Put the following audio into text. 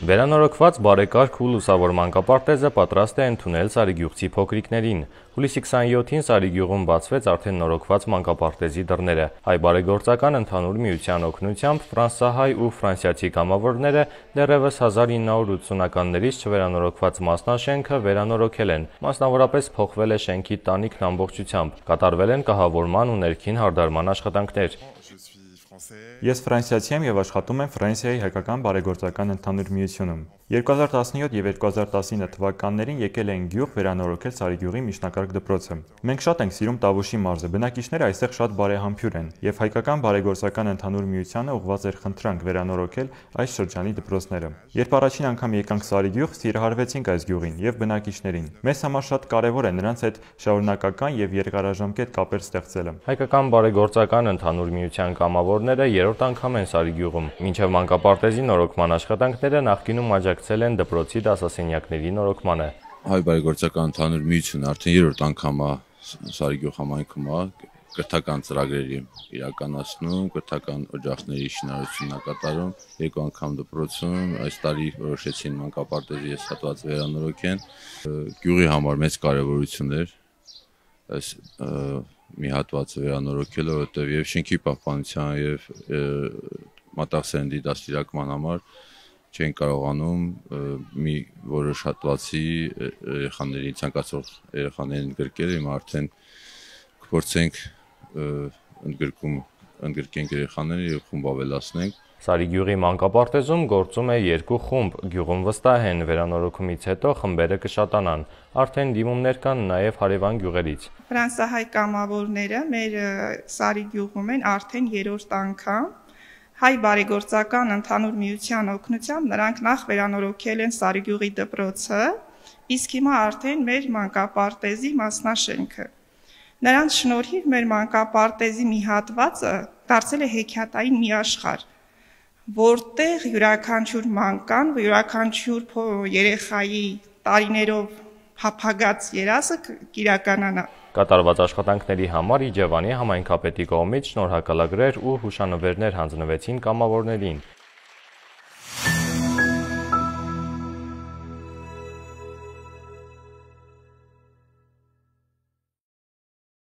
Վերանորոգված բարեկարգ ու լուսավոր մանկապարտեզը պատրաստ է ընդունել Սարիգյուղցի փոքրիկներին։ Հուլիսի 27-ին Սարիգյուղում բացվեց արդեն նորոգված մանկապարտեզի դռները։ Հայ բարեգործական ընդհանուր միության օգնությամբ ֆրանսահայ ու ֆրանսիացի կամավորները դեռևս 1980-ականներից չվերանորոգված մասնաշենքը վերանորոգել են։ Մասնավորապես փոխվել է շենքի տանիքն ամբողջությամբ, կատարվել են կահավորման ու ներքին հարդարման աշխատանքներ։ Ես ֆրանսիացի եմ եւ աշխատում եմ Ֆրանսիայի հայկական բարեգործական ընդհանուր միությունում։ 2017 եւ 2019 թվականներին եկել էին գյուղ վերանորոգել Սարիգյուղի միջնակարգ դպրոցը։ Մենք շատ ենք սիրում Տավուշի մարզը, բնակիչները այստեղ շատ բարեհամբույր են եւ հայկական բարեգործական ընդհանուր միությանը ուղղված էր խնդրանք վերանորոգել այս շրջանի դպրոցները։ Երբ առաջին անգամ եկանք Սարիգյուղ, սիրահարվեցինք այս գյուղին եւ բնակիչներին։ Մեզ համար շատ կարեւոր է նրանց հետ շարունակական եւ երկարաժամկետ կապեր ստեղծելը։ Հայկական բարեգործական ընդհանուր միության կամավորները երրորդ անգամ են Սարիգյուղում։ Մինչև մանկապարտեզի նորոգման աշխատանքները նախկինում աջակցել են դպրոցի դասասենյակների նորոգմանը։ Հայ բարեգործական ընդհանուր միությունը արդեն երրորդ անգամ է Սարիգյուղ համայնքում կրթական ծրագրերի իրականացնում, կրթական օջախների շինարարությունն կատարում, երկու անգամ դպրոցում, այս տարի որոշեցին մանկապարտեզի այս հատվածը վերանորոգեն։ Գյուղի համար մեծ կարևորություն էր այս մի հատվածը վերանորոգելը, որտեղ եւ շենքի պահպանության եւ մատաղսերնդի դաստիարակման համար չեն կարողանում մի որոշ հատվածի երեխաների ցանկացող երեխաներին ընդգրկել, հիմա արդեն կփորձենք ընդգրկենք երեխաները եւ խումբ ավելացնենք։ Սարիգյուղի մանկապարտեզում գործում է երկու խումբ, գյուղում վստահ են վերանորոգումից հետո խմբերը կշատանան, արդեն դիմումներ կան նաև հարևան գյուղերից։ Ֆրանսահայ կամավորները մեր Սարիգյուղում են արդեն երրորդ անգամ, հայ բարեգործական ընդհանուր միության օգնությամբ նրանք նախ վերանորոգել են Սարիգյուղի դպրոցը, իսկ հիմա արդեն մեր մանկապարտեզի մասնաշենքը։ Նրանց շնորհիվ մեր մանկապարտեզի մի հատվածը դարձել է հեքիաթային մի աշխարհ, որտեղ յուրաքանչյուր մանկան, յուրաքանչյուր երեխայի տարիներով փափագած երազը կիրականանա։ Կատարված աշխատանքների համար Իջևանի համայնքապետի կողմից շնորհակալագրեր ու հուշանվերներ հանձնվեցին կամավորներին։